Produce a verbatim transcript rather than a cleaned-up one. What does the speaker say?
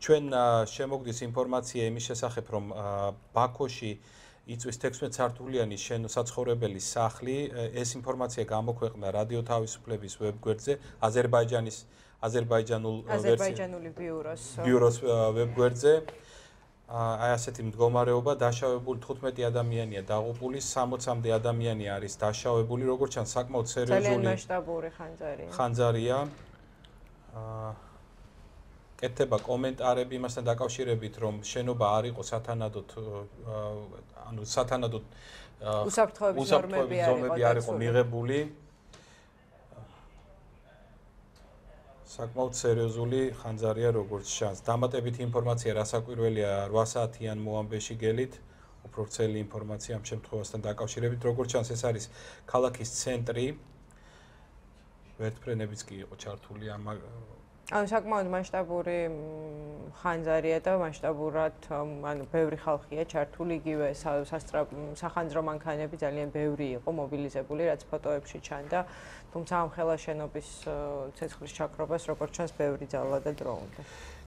ჩვენ შემოგდის ინფორმაცია იმის შესახებ, რომ ბაქოში იწვის თექვსმეტ სართულიანი საცხოვრებელი სახლი. ეს ინფორმაცია გამოქვეყნდა რადიო თავისუფლების ვებგვერდზე, აზერბაიჯანის აზერბაიჯანულ აზერბაიჯანული ბიუროს ბიუროს ვებგვერდზე. აი ასეთი მდგომარეობა, დაშავებული თხუთმეტი ადამიანია დაღუპული, სამოცამდე ადამიანი არის დაშავებული, როგორც ჩანს საკმაოდ სერიოზული ძალიან მასშტაბური ხანძარია. ხანძარია. კეთდება კომენტარები იმასთან დაკავშირებით, რომ შენობა არ იყო სათანადოდ ანუ სათანადოდ უსაფრთხოების ნორმები არ იყო მიღებული. საკმაოდ სერიოზული ხანძარია, როგორც ჩანს. დამატებითი ინფორმაცია რასაკვირველია რვა საათიან მოამბეში გელით, უფრო ვრცელი ინფორმაცია ამ შემთხვევასთან დაკავშირებით, როგორც ჩანს ეს არის ქალაქის ცენტრი. ვერტფრენებიც კი იყო ჩართული ამ ანუ საკმაოდ მასშტაბური ხანძარია და მასშტაბურად ანუ ბევრი ხალხია ჩართული, იგივე სახანძრო მანქანები ძალიან ბევრი იყო მობილიზებული, რაც ფოტოებში ჩანდა. თუმცა ამ ხელა შენობის ცეცხლის ჩაქრობას როგორც ჩანს ბევრი ძალა და დრო უნდა.